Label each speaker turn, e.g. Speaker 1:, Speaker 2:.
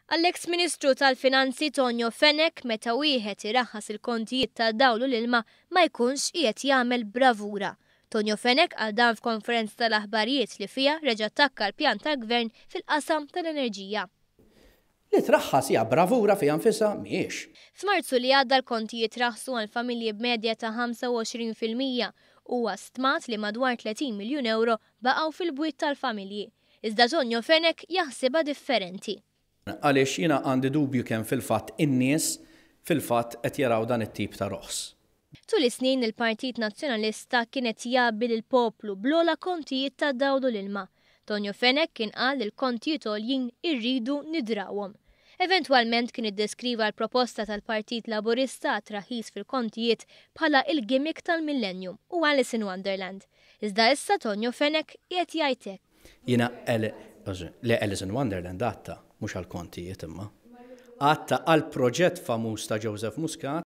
Speaker 1: Għall-eks Ministru tal-Finanzi Tonio Fenech meta wieħed iraħħas il-kontijiet tad-dawl u l-ilma ma jkunx qiegħed jagħmel bravura. Tonio Fenech qal dan f'konferenza tal-aħbarijiet li fiha reġa' attakka l-pjan tal-Gvern fil-qasam tal-enerġija.
Speaker 2: Li traħħas hija bravura fiha nfisha? Mhijiex.
Speaker 1: F'Marzu li għadda l-kontijiet raħsu għal familji b'medja ta' 25%. Huwa stmat li madwar 30 miljun ewro baqgħu fil-bwiet tal-familji. Iżda Tonio Fenech jaħsibha differenti.
Speaker 2: Għaliex jiena għandi dubju kemm fil-fatt in-nies fil-fatt qed jaraw dan it-tip ta' roħs.
Speaker 1: Tul is-snin il-Partit Nazzjonalista kien qed jgħabbi lill-poplu bl-ogħla kontijiet tad-dawl u l-ilma. Tonio Fenech kien qal li l-kontijiet għoljin irridu nidrawhom. Eventwalment kien iddeskriva l-proposta tal-Partit Laburista għat-traħħis fil-kontijiet bħala il-gimmick tal-millennium u Alice in Wonderland. Iżda issa Tonio Fenech qiegħed jgħid hekk.
Speaker 2: Jiena le Alice in Wonderland għatta, mhux għall-kontijiet imma. Għatta għall-proġett famuż ta' Joseph Muscat.